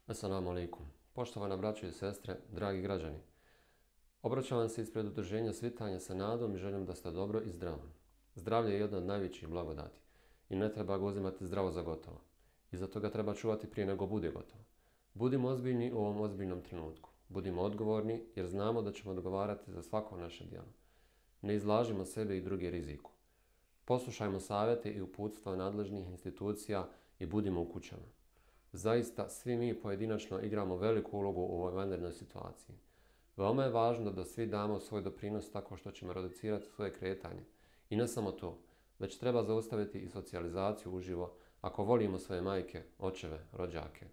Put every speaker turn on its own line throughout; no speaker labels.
Assalamu alaikum. Poštovana braćo i sestre, dragi građani. Obraćam vam se ispred udruženja Svitanje sa nadom i želim da ste dobro i zdravo. Zdravlje je jedna od najvećih blagodati i ne treba ga uzimati zdravo za gotovo. I zato ga treba čuvati prije nego bude gotovo. Budimo ozbiljni u ovom ozbiljnom trenutku. Budimo odgovorni jer znamo da ćemo odgovarati za svako naše djelo. Ne izlažimo sebe i druge riziku. Poslušajmo savjete i uputstva nadležnih institucija i budimo u kućama. Zaista, svi mi pojedinačno igramo veliku ulogu u ovoj vanrednoj situaciji. Veoma je važno da svi damo svoj doprinos tako što ćemo reducirati svoje kretanje. I ne samo to, već treba zaustaviti i socijalizaciju uživo ako volimo svoje majke, očeve, rođake.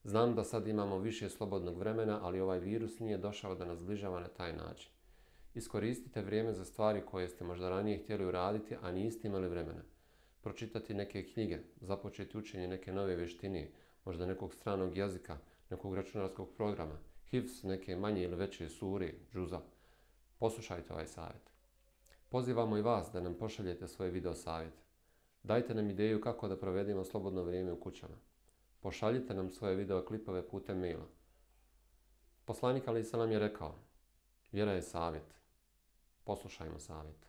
Znam da sad imamo više slobodnog vremena, ali ovaj virus nije došao da nas zbližava na taj način. Iskoristite vrijeme za stvari koje ste možda ranije htjeli uraditi, a niste imali vremena. Pročitati neke knjige, započeti učenje neke nove vještine, možda nekog stranog jezika, nekog računarskog programa, hifz neke manje ili veće sure, džuza. Poslušajte ovaj savjet. Pozivamo i vas da nam pošaljete svoje video savjete. Dajte nam ideju kako da provedemo slobodno vrijeme u kućama. Pošaljite nam svoje video klipove putem maila. Poslanik alejhi selam je rekao: vjera je savjet. Poslušajmo savjet.